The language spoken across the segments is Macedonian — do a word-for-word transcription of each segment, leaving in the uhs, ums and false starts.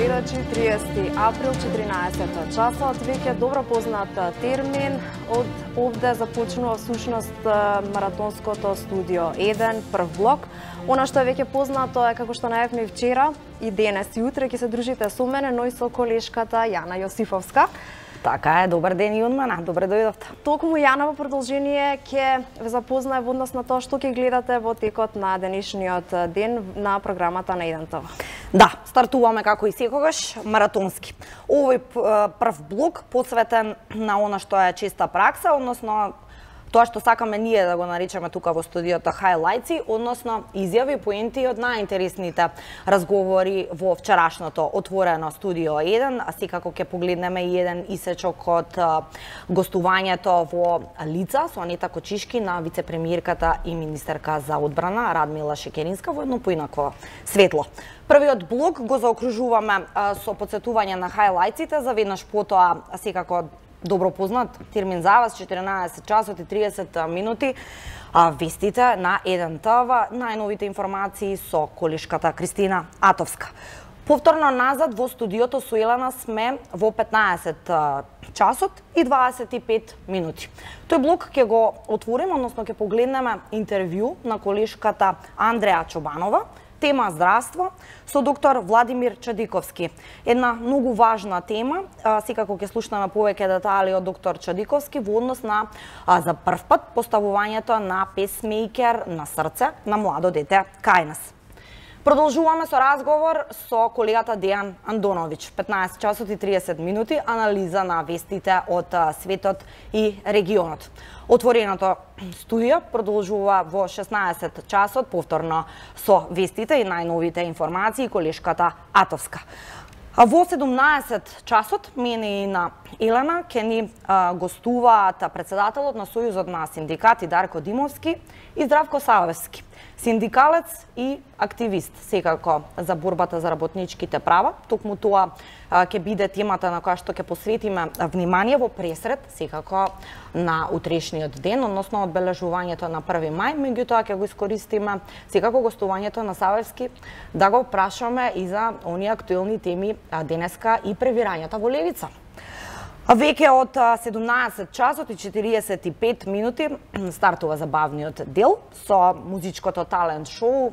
гледачи, триесети април, четиринаесет часот, веќе добро познат термин. Од овде започнува всушност маратонското студио еден, прв блок. Она што е веќе познато е, како што најавме и вчера, и денес и утре ќе се дружите со мене, но и со колешката Јана Јосифовска. Така е, добар ден и од мене, добре дојдовте. Токму Јана во продолжение ќе ве запознае во однос на тоа што ќе гледате во текот на денешниот ден на програмата на еден ТВ. Да, стартуваме како и секогаш маратонски. Овој прв блок посветен на она што е честа пракса, односно тоа што сакаме ние да го наричаме тука во студиото хайлајци, односно изјави, поенти од најинтересните разговори во вчерашното отворено студио еден, а секако ќе погледнеме и еден исечок од гостувањето во лица со Анета Кочишки на вице-премиерката и министерка за одбрана Радмила Шекеринска во едно поинако светло. Првиот блок го заокружуваме со потсетување на хайлајците, за веднаш потоа секако добро познат термин за вас, четиринаесет часот и триесет минути, а вестите на еден ТВ, најновите информации со колешката Кристина Атовска. Повторно назад во студиото со Елена сме во петнаесет часот и дваесет и пет минути. Тој блок ќе го отвориме, односно ќе погледнеме интервју на колешката Андреа Чобанова, тема здравство со доктор Владимир Чадиковски. Една многу важна тема, секако ќе слушнеме повеќе детали од доктор Чадиковски во однос на за прв пат поставувањето на песмејкер на срце на младо дете кај нас. Продолжуваме со разговор со колегата Дејан Андоновиќ. петнаесет часот и триесет минути, анализа на вестите од светот и регионот. Отвореното студио продолжува во шеснаесет часот, повторно со вестите и најновите информации колешката Атовска. Во седумнаесет часот мене и на Елена ќе ни гостуваат председателот на Сојузот на синдикати Дарко Димовски и Здравко Савевски, синдикалец и активист секако за борбата за работничките права. Токму тоа ќе биде темата на која што ќе посветиме внимание во пресред секако на утрешниот ден, односно одбележувањето на први мај, меѓутоа ќе го искористиме секако гостувањето на Савевски да го прашаме и за оние актуелни теми денеска и превирањата во левица. Веќе од седумнаесет часот и четириесет и пет минути стартува забавниот дел со музичкото талент шоу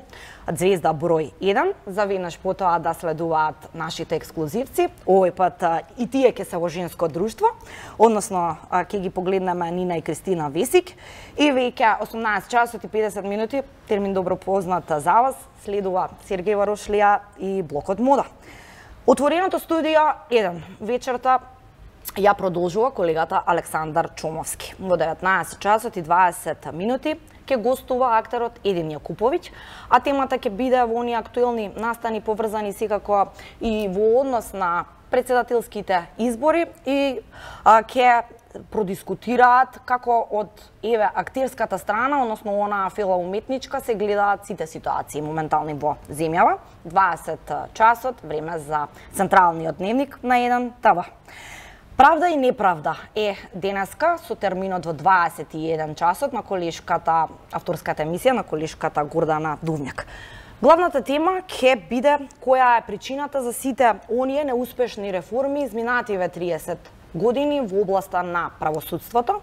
Звезда број еден. За веднаш потоа да следуваат нашите ексклузивци. Овој пат и тие ќе се во женско друштво, односно ќе ги погледнеме Нина и Кристина Весик. И веќе осумнаесет часот и педесет минути, термин добро познат за вас, следува Сергеј Варошлија и блокот мода. Отвореното студио еден вечерта ја продолжува колегата Александар Чомовски. Во деветнаесет часот и дваесет минути ќе гостува актерот Един Јакуповиќ, а темата ќе биде во оние актуелни настани поврзани секако и во однос на председателските избори и ќе продискутираат како од еве актерската страна, односно она филоуметничка, се гледаат сите ситуации моментални во земјава. дваесет часот, време за централниот дневник на еден ТВ. Правда и неправда е денеска со терминот во дваесет и еден часот на колешката, авторската емисија на колешката Гордана Дувњак. Главната тема ќе биде која е причината за сите оние неуспешни реформи изминативе триесет години во областа на правосудството,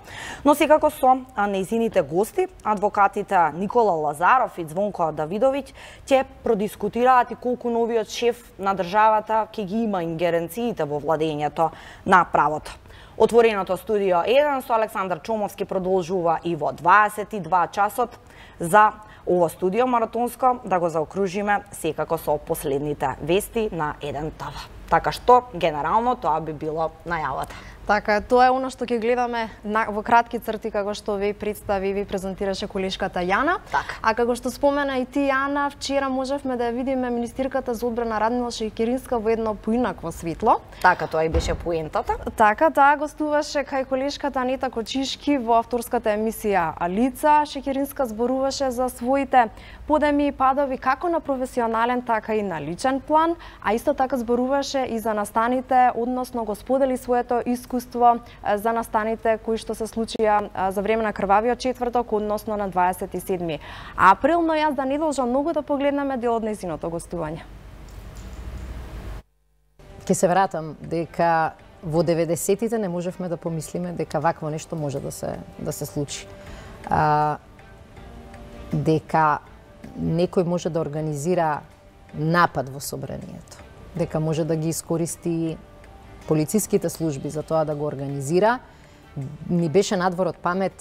но секако со нејзините гости, адвокатите Никола Лазаров и Звонко Давидовиќ, ќе продискутираат и колку новиот шеф на државата ќе ги има ингеренциите во владењето на правото. Отвореното студио еден со Александар Чомовски продолжува и во дваесет и два часот за ово студио маратонско да го заокружиме секако со последните вести на еден ТВ. Така што, генерално, тоа би било најавата. Така, тоа е оно што ќе гледаме на, во кратки црти, како што ви представи и ви презентираше колешката Јана. Так. А како што спомена и ти, Јана, вчера можевме да ја видиме министерката за одбрана Радмила Шекеринска во едно поинакво светло. Така, тоа и беше поентата. Така, таа гостуваше кај колешката Анета Кочишки во авторската емисија Лица. Шекеринска зборуваше за своите подеми и падови како на професионален, така и на личен план, а исто така зборуваше и за настаните, односно го сподели своето искуство за настаните кои што се случија за време на крвавиот четврток, односно на дваесет и седми април, но јас да не должам многу да погледнеме дел од нејзиното гостување. ќе се вратам дека во деветдесетите не можевме да помислиме дека вакво нешто може да се да се случи. А, дека некој може да организира напад во собранието, дека може да ги искористи полициските служби за тоа да го организира, ни беше надвор од памет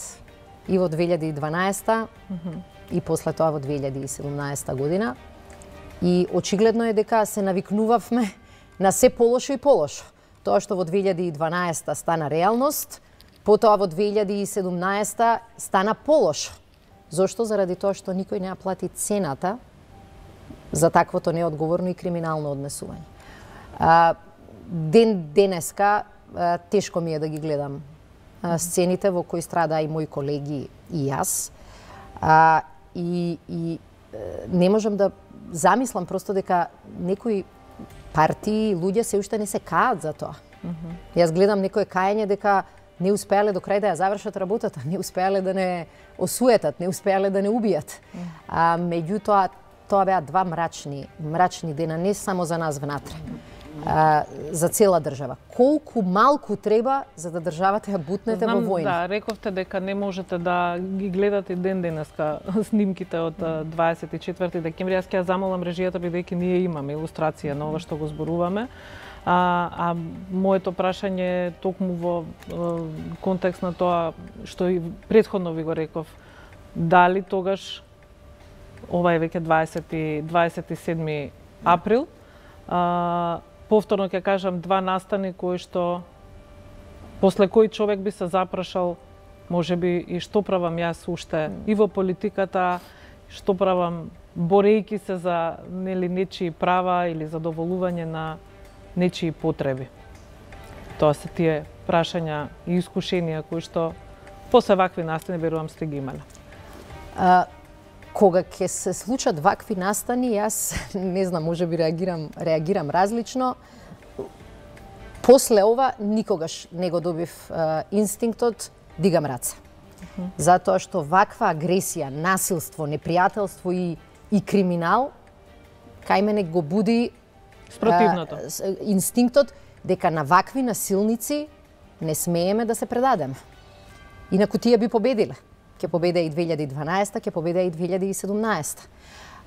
и во две илјади и дванаесета mm-hmm. и после тоа во две илјади и седумнаесета година. И очигледно е дека се навикнувавме на се полошо и полошо. Тоа што во две илјади и дванаесета стана реалност, потоа во две илјади и седумнаесета стана полошо. Зошто? Заради тоа што никој не ја плати цената за таквото неодговорно и криминално однесување. А, ден денеска а, тешко ми е да ги гледам а, сцените во кои страда и мои колеги и јас. А, и, и не можам да замислам просто дека некои партии, луѓе се уште не се каат за тоа. Mm-hmm. Јас гледам некое каење дека не успеале до крај да ја завршат работата, не успеале да не осуетат, не успеале да не убијат. Mm. А меѓутоа тоа беа два мрачни, мрачни дена не само за нас внатре, а, за цела држава. Колку малку треба за да државата ја бутнете Знам, во војна? Да, рековте дека не можете да ги гледате ден денеска снимките од дваесет и четврти декември. Јас ќе ја замолам режијата бидејќи ние имаме илустрација на ова што го зборуваме. А, а моето прашање е токму во е, контекст на тоа што и претходно ви го реков. Дали тогаш, ова е веќе дваесет и седми април, а, повторно ќе кажам два настани кои што после кои човек би се запрашал можеби и што правам јас уште и во политиката, што правам борејќи се за нели нечии права или задоволување на нечии потреби. Тоа се тие прашања и искушенија кои што после вакви настани верувам сте ги имале. А, кога ќе се случат вакви настани, јас не знам, можеби реагирам реагирам различно. После ова никогаш не го добив а, инстинктот дигам раце. Uh-huh. Затоа што ваква агресија, насилство, непријателство и и криминал кај мене го буди спротивното. А, инстинктот дека на вакви насилници не смееме да се предадеме. Инаку тие би победиле. Ќе победе и две илјади и дванаесета, ќе победе и две илјади и седумнаесета.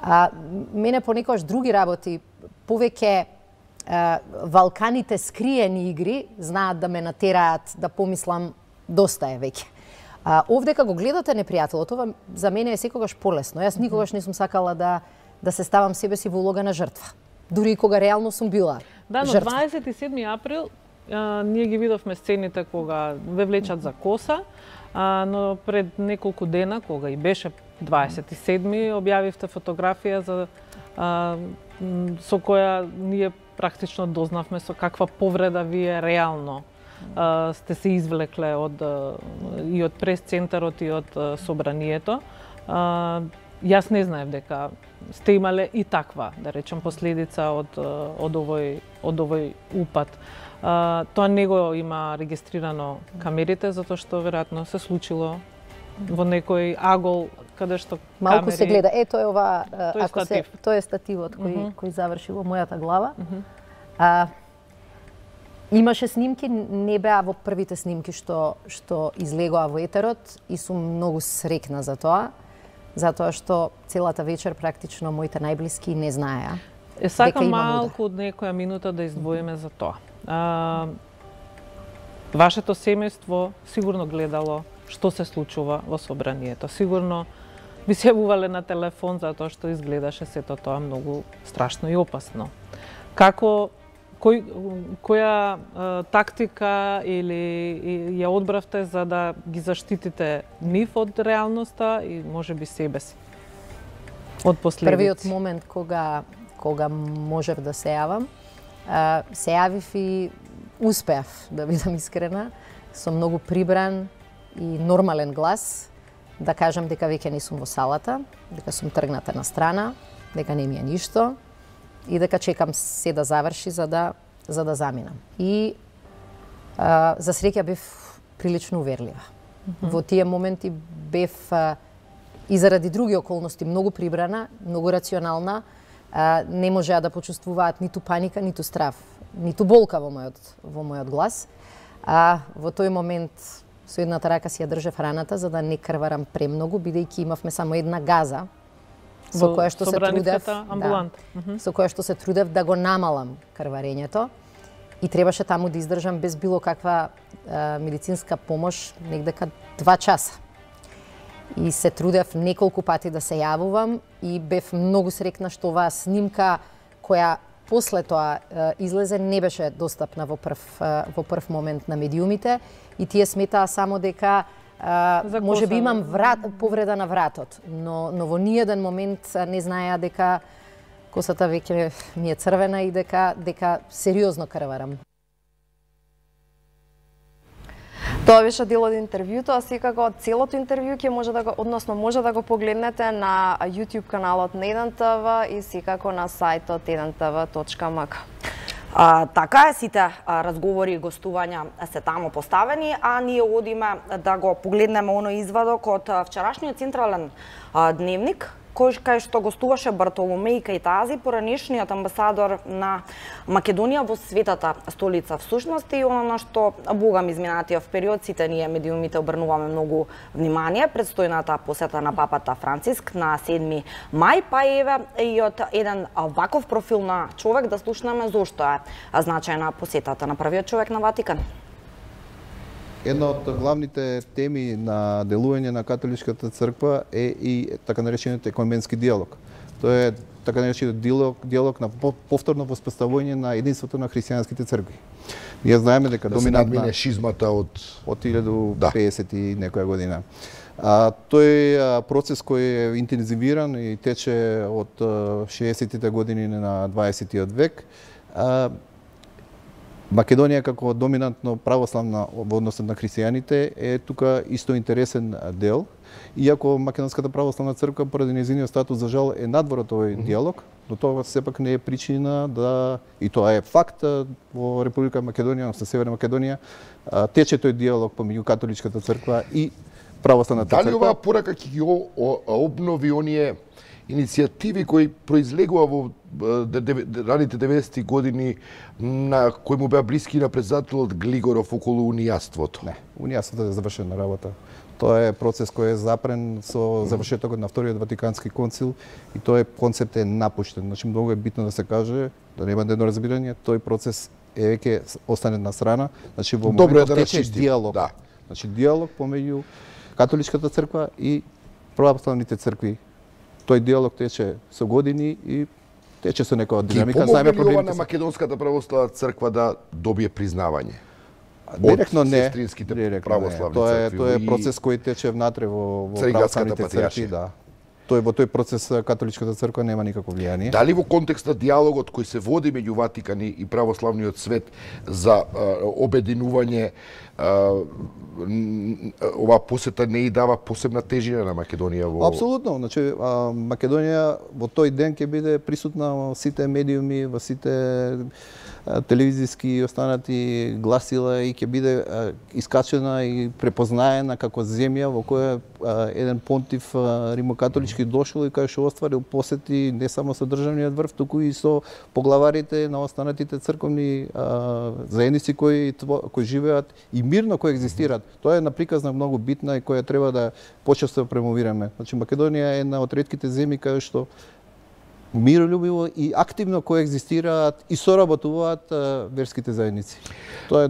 А, мене понекогаш други работи, повеќе а, валканите скриени игри знаат да ме натераат да помислам доста е веќе. А, овдека го гледате непријателот, ова за мене е секогаш полесно. Јас никогаш не сум сакала да да се ставам себе си во улога на жртва. Дури и кога реално сум била Да, но жртва. дваесет и седми април а, ние ги видовме сцените кога ве влечат за коса, а, но пред неколку дена, кога и беше дваесет и седми, објавивте фотографија за а, со која ние практично дознавме со каква повреда вие реално а, сте се извлекле од и од прес-центарот и од а, собранието. А, Јас не знаев дека сте имале и таква, да речем, последица од од овој од овој упад. А, тоа не го има регистрирано камерите затоа што веројатно се случило во некој агол каде што малку камери... се гледа. Ето е ова, Тој ако статив. се тоа е стативот кој Uh-huh. кој заврши во мојата глава. Uh-huh. А, имаше снимки, не беа во првите снимки што што излегоа во етерот и сум многу срекна за тоа. Затоа што целата вечер практично моите најблиски не знаеа. Е, сакам малку од некоја минута да издвоиме за тоа. А, вашето семејство сигурно гледало што се случува во собранието. Сигурно ви се јавувале на телефон затоа што изгледаше сето тоа многу страшно и опасно. Како кој, која а, тактика или ја одбравте за да ги заштитите нив од реалноста и можеби себе си од последици? Првиот момент кога кога можев да се јавам, а, се јавив и успеав, да бидам искрена, со многу прибран и нормален глас, да кажам дека веќе не сум во салата, дека сум тргната на страна, дека не ми е ништо и дека чекам се да заврши за да за да заминам. И а, за среќа бев прилично уверлива. Mm-hmm. Во тие моменти бев а, и заради други околности многу прибрана, многу рационална, а, не можеа да почувствуваат ниту паника, ниту страв, ниту болка во мојот во мојот глас. А во тој момент со едната рака си ја држев раната за да не крварам премногу, бидејќи имавме само една газа со која што се трудев, да, со која што се трудев да го намалам крварењето и требаше таму да издржам без било каква а, медицинска помош негдека два часа. И се трудев неколку пати да се јавувам и бев многу срекна што оваа снимка која после тоа излезе не беше достапна во прв во прв момент на медиумите и тие сметаа само дека може би имам врат, повреда на вратот, но но во ниеден момент не знаеа дека косата веќе ми е црвена и дека дека сериозно крварам. Тоа беше дел од интервјуто, а секако целото интервју ќе може да го, односно може да го погледнете на YouTube каналот на еден ТВ и секако на сајтот еден те ви точка ем ка. А, така е, сите а, разговори и гостувања се таму поставени, а ние одиме да го погледнеме оној извадок од вчерашниот централен а, дневник, кој кај што гостуваше Бартоломеј Кајтази, поранешниот амбасадор на Македонија во светата столица всушност, и она што богам изминатиот период сите ние медиумите обрнуваме многу внимание предстојната посета на папата Франциск на седми мај, па еве и од еден ваков профил на човек да слушнеме зошто е значајна посетата на првиот човек на Ватикан. Една од главните теми на делување на католичката црква е и така наречениот екуменски диалог. Тоа е така наречениот диалог, диалог на повторно воспоставување на единството на христијанските цркви. Ние знаеме дека да доминантна се надмине шизмата од од илјаду петдесет и некоја година. А, тој процес кој е интензивиран и тече од шеесеттите години на дваесеттиот век. А, Македонија како доминантно православна во однос на христијаните е тука исто интересен дел, иако Македонската православна црква поради нејзиниот статус за жал е надвор од овој диалог, но тоа сепак не е причина да, и тоа е факт, во Република Македонија, со Северна Македонија, тече тој диалог помеѓу католичката црква и православната црква. Дали оваа порака ќе ги обнови оние иницијативи кои произлегува во раните деветдесетти години на кои му беа блиски на председателот Глигоров околу унијаството? Не, унијаството е завршена работа. Тоа е процес кој е запрен со завршетокот на Вториот Ватикански концил и тој концепт е напуштен. Значи многу е битно да се каже, да нема недоразбирање, тој процес е веќе остане на страна. Значи во моментот да тече диалог. Да. Значи диалог помеѓу католичката црква и православните цркви. Тој диалог тече со години и тече со некоја динамика. Знаеме проблемите на Македонската православна црква да добие признавање? Директно не. Сестринските директно православни не. Тоа е цркви. тоа е процес кој тече внатре во, во православните цркви, да. Тој во тој процес католичката црква нема никакво влијание. Дали во контекст на диалогот кој се води меѓу Ватикан и православниот свет за а, обединување, а, оваа посета не и дава посебна тежина на Македонија во... Апсолутно, значи а, Македонија во тој ден ќе биде присутна во сите медиуми, во сите телевизиски и останати гласила и ќе биде а, искачена и препознаена како земја во која а, еден понтив а, римокатолички дошол и кај што остварил посети не само со државниот врв, туку и со поглаварите на останатите црковни а, заедници кои кои живеат и мирно коегзистираат. Тоа е наприказна многу битна и која треба да почесто премовираме. Значи Македонија е една од ретките земји кај што миролюбиво и активно коегзистираат и соработуваат верските заедници. Тоа е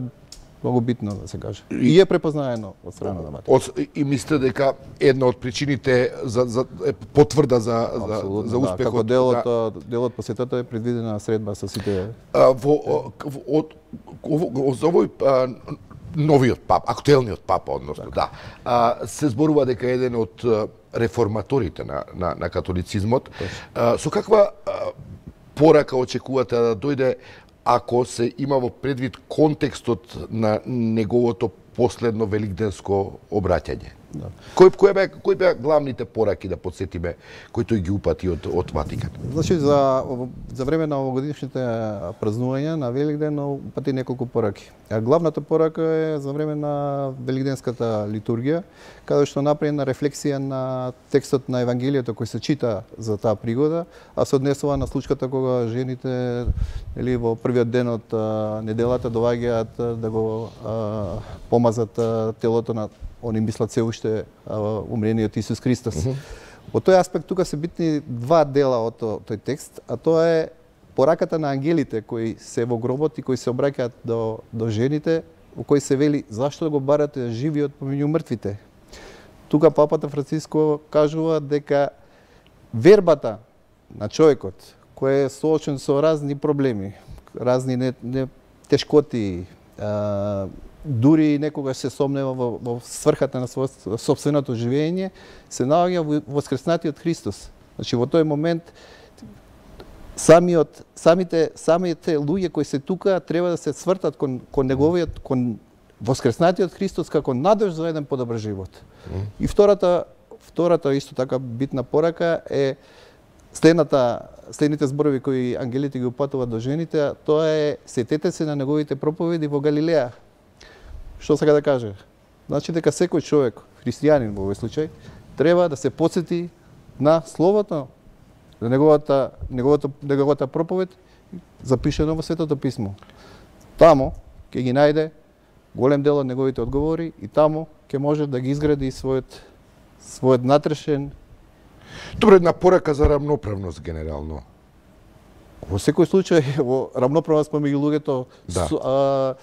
многу битно да се каже. И, и е препознаено од страна на Ватикан. И мислите дека една од причините за, за е потврда за за, за успехот, да, како делот да, делот посетата е предвидена средба со сите а, во од за овој а, новиот пап, актуелниот папа, односно, да. А, се зборува дека еден од реформаторите на, на, на католицизмот. А, со каква а, порака очекувате да дојде ако се има во предвид контекстот на неговото последно великденско обраќање? Да. Кој кој бе кој беа главните пораки да потсетиме кои тој ги упати од од Ватикан? Значи за за време на овогодишните празнувања на Великден упати неколку пораки. А главната порака е за време на великденската литургија, каде што направена рефлексија на текстот на Евангелието кој се чита за таа пригода, а се однесува на случката кога жените или во првиот ден од неделата доаѓаат да го а, помазат а, телото на они мислат се уште умрениот Исус Христос. Mm -hmm. Во тој аспект тука се битни два дела од тој текст, а тоа е пораката на ангелите кои се во гробот и кои се обраќаат до до жените, во кои се вели зашто го барате живиот помеѓу мртвите. Тука папата Франциско кажува дека вербата на човекот кој е соочен со разни проблеми, разни не, не тешкоти, а, дури некогаш се сомнева во, во сврхата на својот сопственото живење, се наоѓа во воскреснатиот Христос. Значи во тој момент самиот самите самите луѓе кои се тука треба да се свртат кон кон неговиот кон воскреснатиот Христос како надеж за еден подобар живот. Mm. И втората втората исто така битна порака е следната следните зборови кои ангелите ги упатуваат до жените, тоа е сетете се на неговите проповеди во Галилеја. Што сака да каже? Значи дека секој човек, христијанин во овој случај, треба да се потсети на словото, на неговата неговата неговата проповед запишено во Светото писмо. Таму ќе ги најде голем дел од неговите одговори и таму ќе може да ги изгради својот својот натрешен. Добре, една порака за рамноправност генерално. Во секој случај во рамноправност помеѓу луѓето, да. Су, а,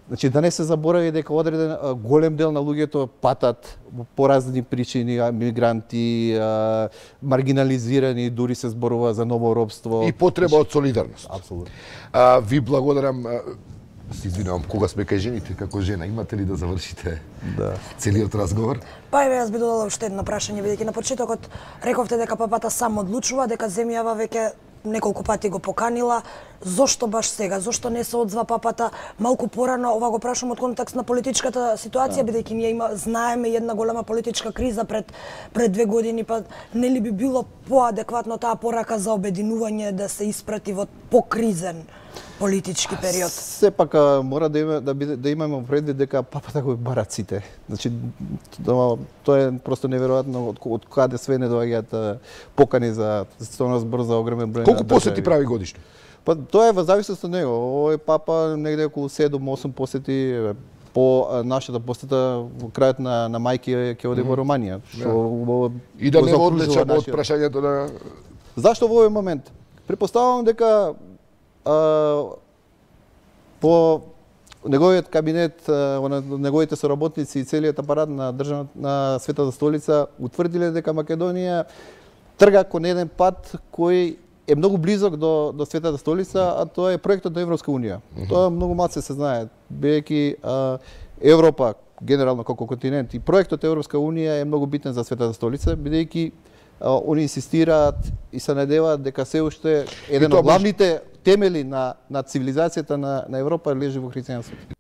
значи да не се заборави дека одреден а, голем дел на луѓето патат по разни причини, а, мигранти, а, маргинализирани, дури се зборува за ново робство. И потреба од солидарност. Апсолутно. А, ви благодарам. Се извинувам, кога сме кај жените како жена, имате ли да завршите да. целиот разговор? Па еве, јас би додала уште едно прашање, бидејќи на почетокот рековте дека папата сам одлучува, дека земјава веќе неколку пати го поканила. Зошто баш сега? Зошто не се одзва папата малку порано? Ова го прашам од контекст на политичката ситуација, да. бидејќи ние има знаеме една голема политичка криза пред пред две години, па нели би било поадекватно таа порака за обединување да се испрати во покризен политички период? Сепак мора да има да биде да имаме предвид дека папата го барат сите. Значи тоа, тоа е просто неверојатно од, од каде све не доаѓаат покани за стојно збор за огромен број. Колку посети прави годишно? Па тоа е во зависност од него. Овој папа негде околу седум-осум посети. По нашата посета во крајот на на мајки ќе оди во Романија, што да. И да не го одлечам од прашањето на зашто во овој момент? Препоставувам дека а, по неговиот кабинет, а, неговите соработници и целиот апарат на државната на Светата столица утврдиле дека Македонија трга кон еден пат кој е многу близок до до Светата столица, а тоа е проектот на Европска унија. Uh -huh. Тоа многу маци се знае, бидејќи Европа генерално како континент и проектот Европска унија е многу битен за Светата столица, бидејќи они инсистираат и се надеваат дека се уште еден од главните темели на на цивилизацијата на на Европа лежи во христијанството.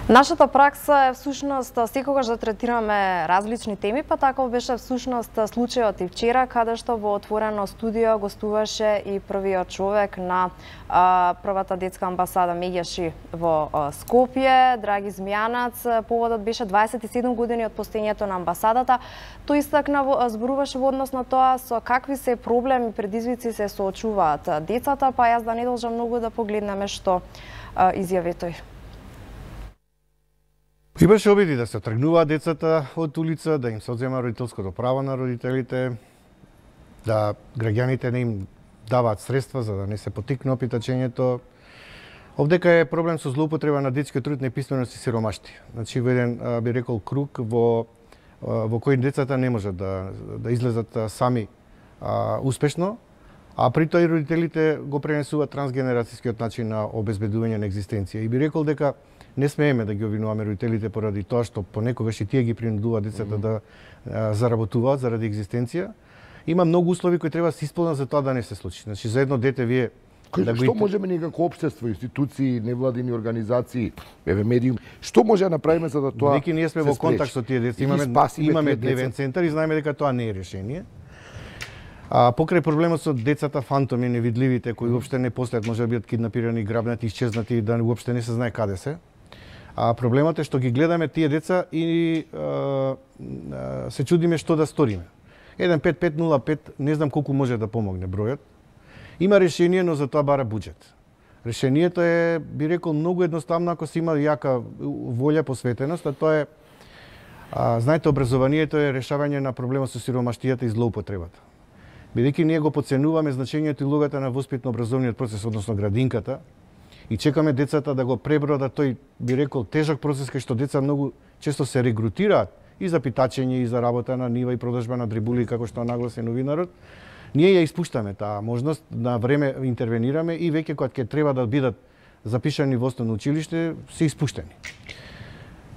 Нашата пракса е всушност секогаш да третираме различни теми, па таков беше всушност случајот и вчера, каде што во отворено студио гостуваше и првиот човек на а, првата детска амбасада Меѓаши во а, Скопје, Драги Змијанац. Поводот беше дваесет и седум години од постоењето на амбасадата. Тој истакна, зборуваше во однос на тоа со какви се проблеми и предизвици се соочуваат децата, па јас да не должам многу да погледнеме што а, изјави тој. Имаше обиди да се тргнуваат децата од улица, да им се одзема родителското право на родителите, да граѓаните не им даваат средства за да не се потикне опитачењето. Овдека е проблем со злоупотреба на детскиот труд, неписменост и сиромашти. Значи, во еден, би рекол, круг во, во кој децата не можат да, да излезат сами а, успешно, а при тоа и родителите го пренесуваат трансгенерацијскиот начин на обезбедување на екзистенција. И би рекол дека не смееме да ги обвинуваме родителите поради тоа што понекогаш и тие ги принудуваат децата mm -hmm. да а, заработуваат заради екзистенција. Има многу услови кои треба да се исполнат за тоа да не се случи. Значи, за едно дете вие Кој, да што го... можеме ние како општество, институции, невладини организации, еве медиум, што може да направиме за да тоа Веќе ние сме во контакт со тие деца, имаме имаме дневен центар и знаеме дека тоа не е решение. А покрај проблемот со децата фантоми, невидливите, кои уопште не постојат, може да бидат киднапирани, грабнати, исчезнати и да уопште не се знае каде се. А проблемот е што ги гледаме тие деца и а, а, се чудиме што да сториме. еден пет пет нула пет, не знам колку може да помогне бројот. Има решение, но за тоа бара буџет. Решението е, би рекол, многу едноставно ако се има јака волја, посветеност, а тоа е, а, знаете, образованието е решавање на проблемот со сиромаштијата и злоупотребата. Бидејќи ние го подценуваме значењето и улогата на воспитно-образовниот процес, односно градинката, и чекаме децата да го пребродат тој, би рекол, тежок процес кај што деца многу често се регрутираат и за питачење, и за работа на нива, и продажба на дрибули, како што нагласи новинарот. Ние ја испуштаме таа можност, на време интервенираме и веќе кога ќе треба да бидат запишани во основно училиште, се испуштени.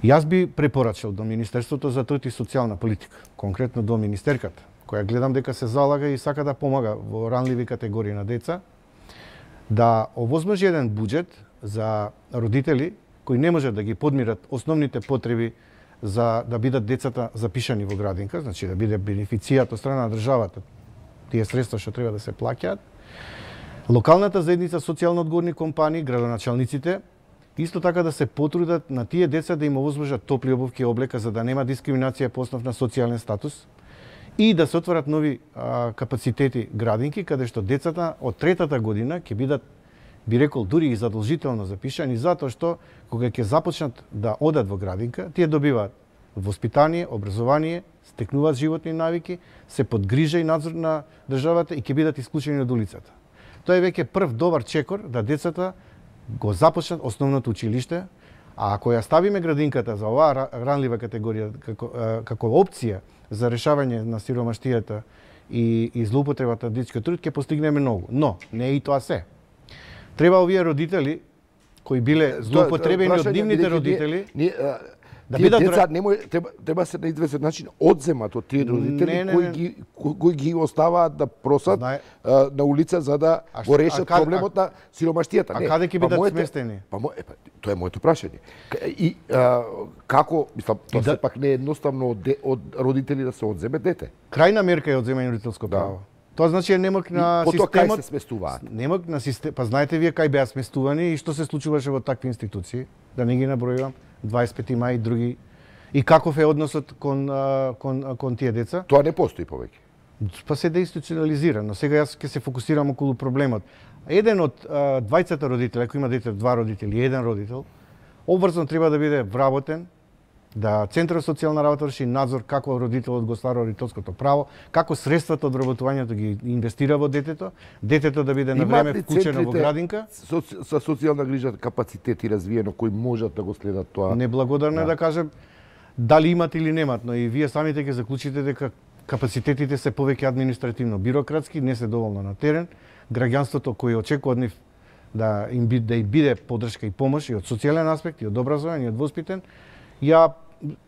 Јас би препорачал до Министерството за труд и социјална политика, конкретно до министерката, која гледам дека се залага и сака да помага во ранливи категории на деца, да овозможи еден буџет за родители кои не можат да ги подмират основните потреби за да бидат децата запишани во градинка, значи да биде бенефицијат од страна на државата, тие средства што треба да се плаќаат. Локалната заедница, социјално одговорни компании, градоначалниците, исто така да се потрудат на тие деца да им овозможат топли обувки и облека за да нема дискриминација по основ на социјален статус и да се отворат нови а, капацитети градинки каде што децата од третата година ќе бидат, би рекол, дури и задолжително запишани, затоа што кога ќе започнат да одат во градинка, тие добиваат воспитание, образование, стекнуваат животни навики, се под грижа и надзор на државата и ќе бидат исклучени од улицата. Тоа е веќе прв добар чекор да децата го започнат основното училиште, а ако ја ставиме градинката за оваа ранлива категорија како, како опција за решавање на сиромаштијата и, и злоупотребата на детскиот труд, ќе постигнеме многу. Но, не е и тоа се. Треба овие родители, кои биле злоупотребени од нивните родители, ние, да тие бидат деца не може треба треба се на известен начин одземат од тие родители не, не, кои ги кои ги оставаат да просат Знае... на улица за да а го решат а, проблемот а, на сиромаштијата. А не, каде ќе бидат па, сместени? Па, мо, е, па тоа е моето прашање. И а, како, мислам, тоа да... сепак не е едноставно од, од родители да се одземе дете. Крајна мерка е одземање на родителско да. право. Тоа значи е немок на и, системот. Кај се сместуваат? Немок на систем, па знаете вие кај беа сместувани и што се случуваше во такви институции, да не ги набројувам, дваесет и пети мај и други. И каков е односот кон кон кон тие деца? Тоа не постои повеќе. Па се деинституционализирано. Сега јас ќе се фокусирам околу проблемот. Еден од двајцата родители, ако има дете два родители, еден родител, обврзано треба да биде вработен, да Центарот за социјална работа врши надзор како родителот го ствара родителското право, како средствата од вработувањето ги инвестира во детето, детето да биде на време вклучено во градинка. Со, со социјална грижа капацитети развиено кои можат да го следат тоа. Неблагодарно е да. да кажем дали имат или немат, но и вие самите ќе заклучите дека капацитетите се повеќе административно бирократски, не се доволно на терен. Граѓанството кој очекува од нив да им биде, да им биде поддршка и помош и од социјален аспект и од образование и од воспитен, ја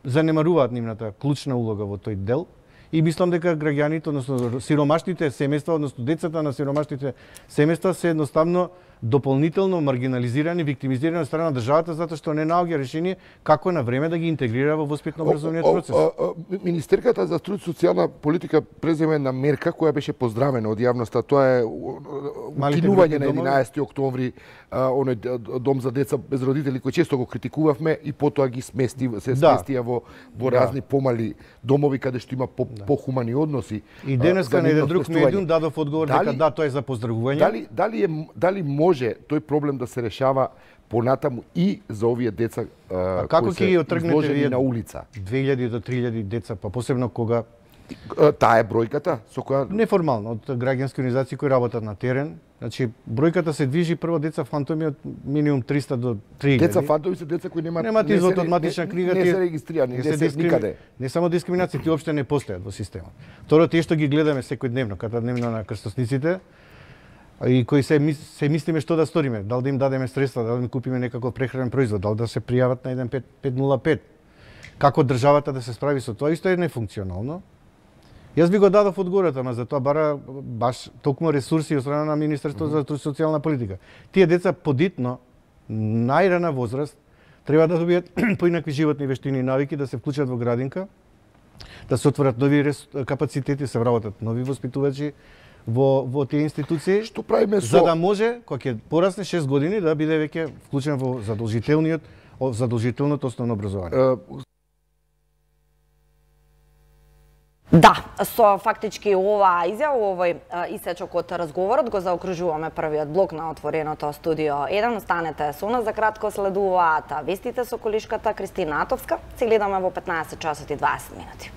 занемаруваат нивната клучна улога во тој дел и мислам дека граѓаните, односно сиромашните семејства, односно децата на сиромашните семејства се едноставно дополнително маргинализирани, виктимизирани од страна на државата затоа што не наоѓа решение како на време да ги интегрира во воспитно-образовниот процес. О, о, о, Министерката за труд и социјална политика преземе една мерка која беше поздравена од јавноста, тоа е укинување на единаесети октомври оној дом за деца без родители кој често го критикувавме и потоа ги смести се да. сместија во во да. разни помали домови каде што има по, да. похумани односи. И денеска на еден друг медиум дадов одговор дека да, тоа е за поздравување. Дали дали е дали може тој проблем да се решава понатаму и за овие деца а, како ќе ги отргнете вие на улица? две илјади до три илјади деца, па посебно кога таа е бројката со која неформално од граѓански организации кои работат на терен. Значи бројката се движи прво деца фантоми од минимум триста до три илјади. Деца фантоми се деца кои немаат немаат извод од матична книга, не се регистрирани, не се дискрими... никаде. Не само дискриминација, тие опште не постојат во системот. Второ, тие што ги гледаме секојдневно, катадневно на крстосниците, и кои се, се мислиме што да сториме, дали да им дадеме средства, дали да им купиме некаков прехранен производ, дали да се пријават на еден пет нула пет. Како државата да се справи со тоа, исто е нефункционално. Јас би го дадов одговорот, ама за тоа бара баш токму ресурси од страна на Министерството за труд и социјална политика. Тие деца подитно, најрана возраст, треба да добијат поинакви животни вештини и навики, да се вклучат во градинка, да се отворат нови капацитети, се вработат нови воспитувачи во во тие институции. Што правиме со... За да може кога ќе порасне шест години да биде веќе вклучен во задолжителниот задолжителното основно образование. Да, со фактички оваа изјава, овој исечок од разговорот го заокружуваме првиот блок на отвореното студио еден. Останете со нас, за кратко следуваат вестите со колишката Кристина Атовска. Се гледаме во петнаесет часот и дваесет минути.